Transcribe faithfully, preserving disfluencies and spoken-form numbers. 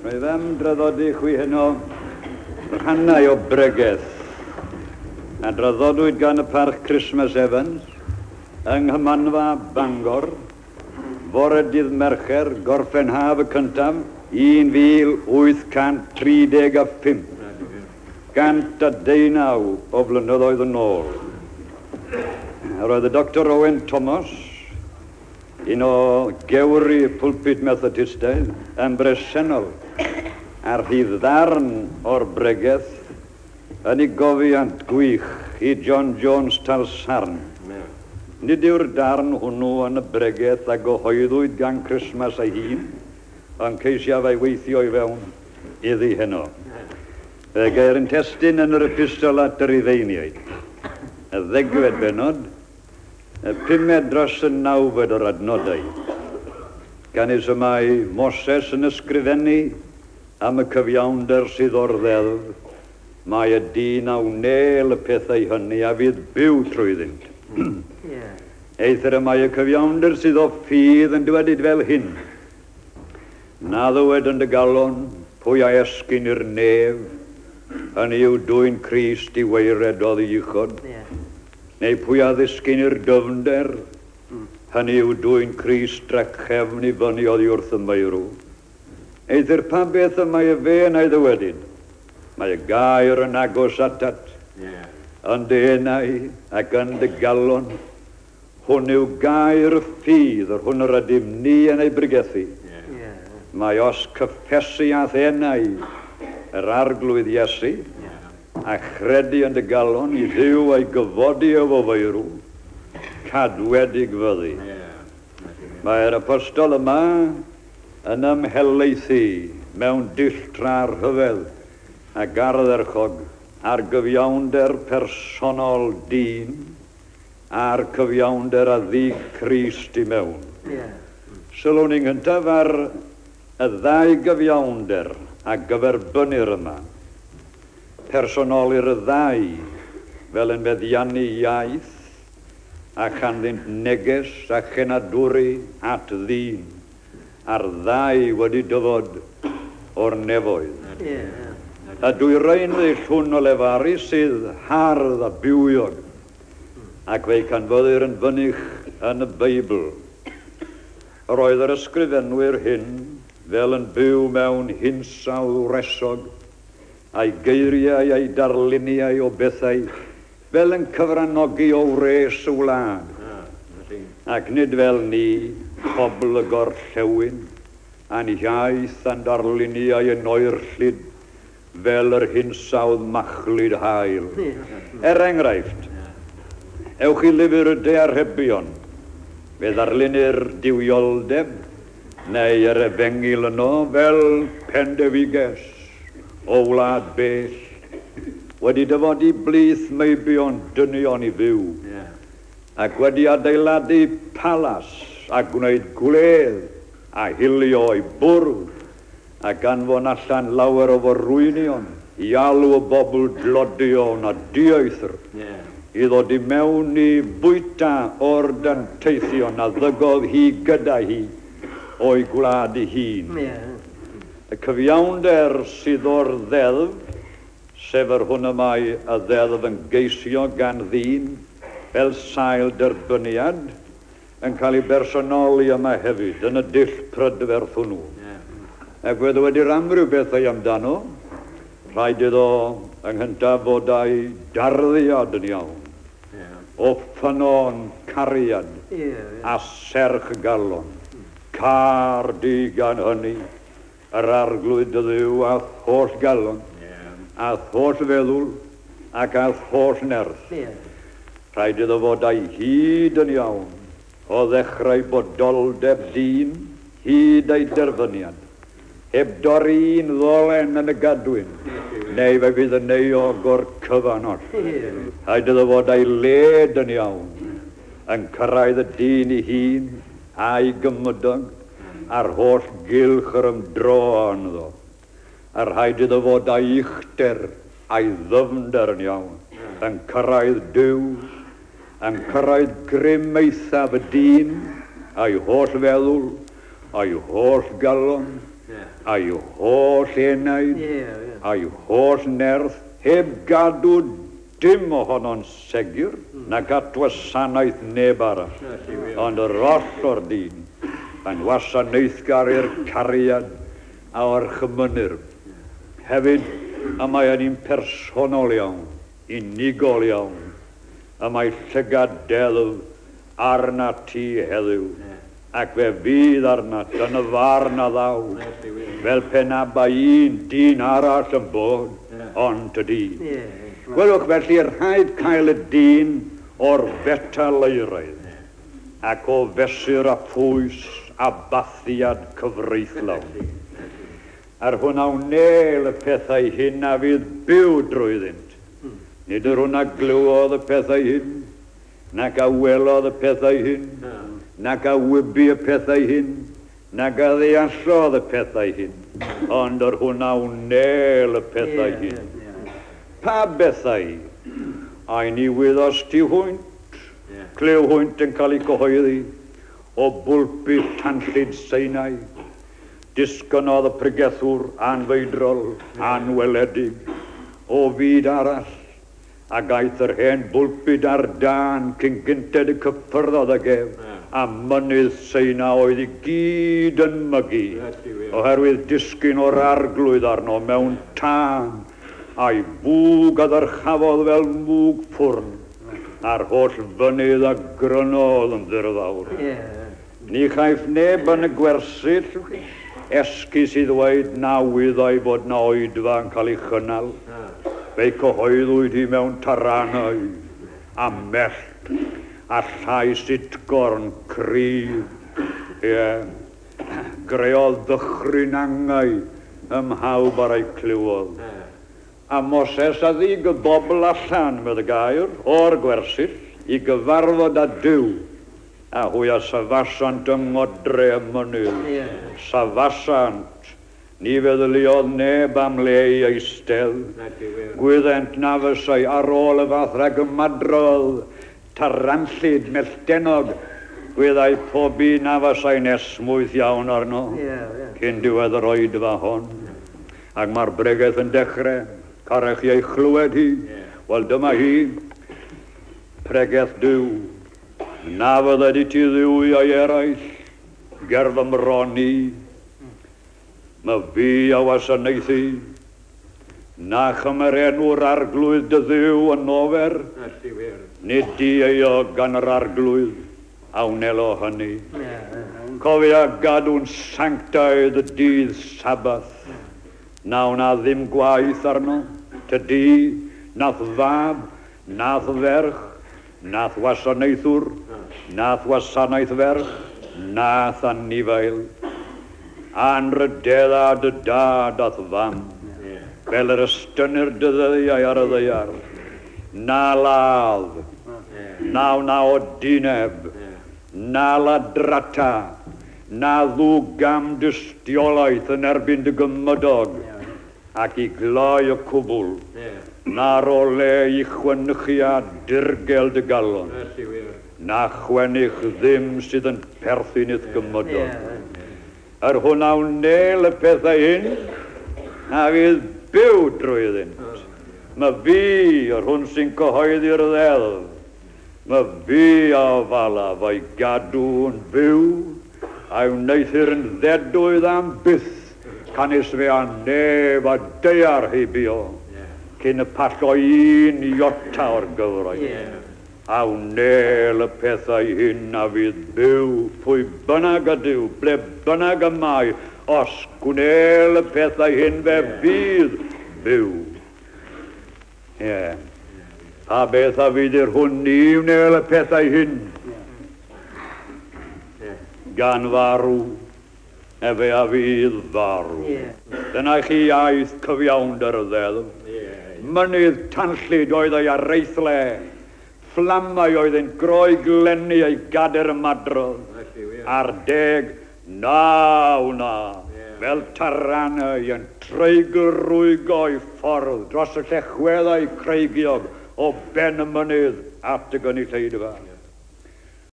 Rwyf am draddodi chwi heno rhannau o bregeth a draddodwyd gan y Parch Christmas Evans yng Nghymanfa Bangor fore dydd Mercher Gorffen Haf y cyntaf un mil wyth cant tri deg a phump, gant a deunaw o flynyddoedd yn ôl. Yr oedd y Doctor Owen Thomas, un o gewri pulpit Methodistaidd, yn bresennol ar rhydd ddarn o'r bregeth yn ei gofiant gwych i John Jones Talsarn. Nid yw'r darn hwnnw yn y bregeth a gyhoeddwyd gan Christmas ei hun, ond ceisiaf ei weithio i fewn iddi heno. Fe geir yn testun yn yr epistol at y Rufeiniaid, y ddegfed bennod, y pumed dros y nawfed o'r adnodau. Canys y mae Moses yn ysgrifennu am y cyfiawnder sydd o'r ddeddf, mae y dyn a wnel y pethau hynny a fydd byw trwyddynt. Yeah. Eithr y mae y cyfiawnder sydd o ffydd yn dywedyd fel hyn. Na ddywed yn dy galon pwy a esgyn i'r nef, hynny yw dwyn Crist i waered oddi uchod. Yeah. Neu pwy a ddisgyn i'r dyfnder, hynny yw dwyn Crist drachefn i fyny oddi wrth y meirw. Eithr pa beth y mae y fe yn ei ddywedyd? Mae y gair yn agos atat, Yeah. yn dy enau ac yn dy galon. Hwn yw gair y ffydd, yr hwn yr ydym ni yn ei bregethu. Yeah. Yeah. Mae os cyffesu a'th enau yr Arglwydd Iesu, Yeah. a chredu yn dy galon i Dduw a'i gyfodi efo feirw, cadwedig fyddi. Yeah. Mae'r apostol yma yn ymhelaethu mewn dull tra rhyfedd ac ardderchog ar gyfiawnder personol dyn a'r cyfiawnder a ddug Crist i mewn. Yeah. Sylwn ni'n gyntaf ar y ddau gyfiawnder a gyferbynnir yma. Personolir y ddau fel yn meddiannu iaith a chanddynt neges a chenadwri at ddyn, a'r ddau wedi dyfod o'r nefoedd. Yeah. Y dwyrain ddull hwn o lefaru sydd hardd a bywiog, ac fe'i canfyddir yn fynych yn y Beibl. Yr oedd yr ysgrifenwyr hyn fel yn byw mewn hinsawdd wresog, a'i geiriau a'i darluniau o bethau fel yn cyfranogi o wres y wlad. Ac nid fel ni, pobl y gorllewin, a'n iaith a'n darluniau yn oerllyd, fel yr hinsawdd machlud haul. Er enghraifft, ewch i lyfr y Daearhebion, fe ddarlunir duwioldeb neu yr efengyl yno fel pendefiges o wlad bell, wedi dyfod i blith meibion dynion i fyw, Yeah. ac wedi adeiladu palas a gwneud gwledd a hilio i bwrdd, ac anfon allan lawer o forwynion i alw y bobl dlodion a dieithr, Yeah. i ddod i mewn i bwyta o'r danteithion a ddygodd hi gyda hi o'i gwlad ei hun. Yeah. Y cyfiawnder sydd o'r ddeddf, sef yr hwn y mae y ddeddf yn geisio gan ddyn fel sail derbyniad, yn cael ei bersonoli yma hefyd yn y dull prydferth hwnnw. Yeah. Ac fe ddywedir amryw bethau amdano, rhaid iddo yng nghyntaf fod â'i darddiad yn iawn, Yeah. o ffynnon cariad Yeah. a serch galon. Car di gan hynny, yr Arglwydd dy Dduw a'th holl galon, Yeah. a'th holl feddwl ac a'th holl nerth. Yeah. Rhaid iddo fod â'i hyd yn iawn, o ddechrau bodoldeb dyn, hyd ei derfyniad. Heb dorri un ddolen yn y gadwyn, neu fe fydd yn euog o'r cyfan oll. Yeah. Rhaid iddo fod â'i led yn iawn, yn cyrraedd y dyn ei hun, a'i gymydog, a'r holl gylch yr ymdro ynddo. A rhaid iddo fod â'i uchder a'i ddyfnder yn iawn, yn cyrraedd Duw, yn cyrraedd grym eithaf y dyn, a'i holl feddwl, a'i holl galon, Yeah. a'i holl enaid, yeah, yeah. a'i holl nerth, heb gadw dim ohono'n segur, mm. nac at wasanaeth neb arall. Ond yr oll o'r dyn, yn wasanaethgar i'r cariad a orchymynir. Hefyd, y mae yn un personol iawn, unigol iawn, y mae llygad deddf arnat ti heddiw, ac fe fydd arnat yn y farn a ddaw, fel pe na bai un dyn arall yn bod, ond tydi. Gwelwch felly, rhaid cael y dyn o'r fetal euraidd, ac o fesur a phwys a bathiad cyfreithlawn. A'r hwn a wnel y pethau hyn a fydd byw drwyddynt. Nid yr hwn a glywodd y pethau hyn, nac a welodd y pethau hyn, nac a wybu y pethau hyn, nac a ddeallodd y pethau hyn, ond yr hwn a wnel y pethau Ie, hyn. ie. Pa bethau? Ai ni wyddost ti hwynt, Ie. clyw hwynt yn cael eu cyhoeddi, o bwlpud tanllyd Sinai. Disgynodd y pregethwr anfeidrol, anweledig, o fyd arall, ac aeth yr hen bwlpud ar dân cyn gynted y cyffyrddodd ag ef, a mynydd Seina oedd i gyd yn mygu, oherwydd disgyn o'r arglwydd arno mewn tân, a'i fwg a ddyrchafodd fel mwg ffwrn, a'r holl fynydd a grynodd yn ddirfawr. Ie. Ni chaiff neb yn y gwersyll esgus i ddweud na wyddai fod na oedfa yn cael ei chynnal. Fe'i cyhoeddwyd hi mewn taranau a mellt a llais utgorn cryf. Ie, greodd ddychryn angau ym mhawb ar ei clywodd. A Moses a ddug y bobl allan, medd y gair, o'r gwersyll, i gyfarfod â Duw, a hwy a safasant yng ngodre y mynydd. Ie. Safasant, ni feddyliodd neb am le i eistedd. Gwyddent na fysai ar ôl y fath rhagymadrodd, taranllyd, melltennog, gwyddai pob un na fasai'n esmwyth iawn arno, Ie, ie. cyn diwedd yr oedfa hon. Ac mae'r bregeth yn dechrau, carech chi ei chlywed hi. Wel, dyma hi, pregeth Duw. Na fydded i ti dduwiau eraill, ger fy mron i. Ma fi a wasanaethu. Na chymer enw'r arglwydd dy Dduw yn ofer, nid dieuog gan yr arglwydd, a wnelo hynny. Ie, ie. Cofia gadw'n sanctaidd y dydd Sabbath. Na wna ddim gwaith arno, tydi, nath fab, nath ferch, nath wasanaethwr, nath wasanaeth ferch, nath anifail. Anrhydedda dy dad a'th fam, fel yr ystynir dy ddyddiau ar y ddaear. Na ladd, na wna odineb, na ladrata, na ddwg gam dystiolaeth yn erbyn dy gymydog, ac i gloi y cwbl, na ro le i chwenychiad dirgel dy galon, na chwenych ddim sydd yn perthyn i'th gymydog. Ie. Yr hwn a wnel y pethau hyn, a fydd byw drwyddynt. Ma fi, yr hwn sy'n cyhoeddi'r ddeddf, ma fi a ofalaf a'i gadw yn fyw, a'i wneuthur yn ddedwydd am byth, canys fe a nef a daear heibio, cyn y pallo un iota o'r gyfraith. Ie. A wnel y pethau hyn a fydd byw, pwy bynnag ydyw, ble bynnag y mae, os gwnel y pethau hyn fe fydd byw. Ie. Pa beth a fydd i'r hwn ni wnel y pethau hyn? Gan farw, efe a fydd farw. Ie. Dyna chi iaith cyfiawnder y ddeddf. Mynydd tanllyd oedd ei areithle, fflamau oedd yn groeglennu ei gader ymadrodd, a'r deg na wna, fel taranau yn treiglrwygo'i ffordd dros y llechweddau creigiog o ben y mynydd at y gynulleidfa.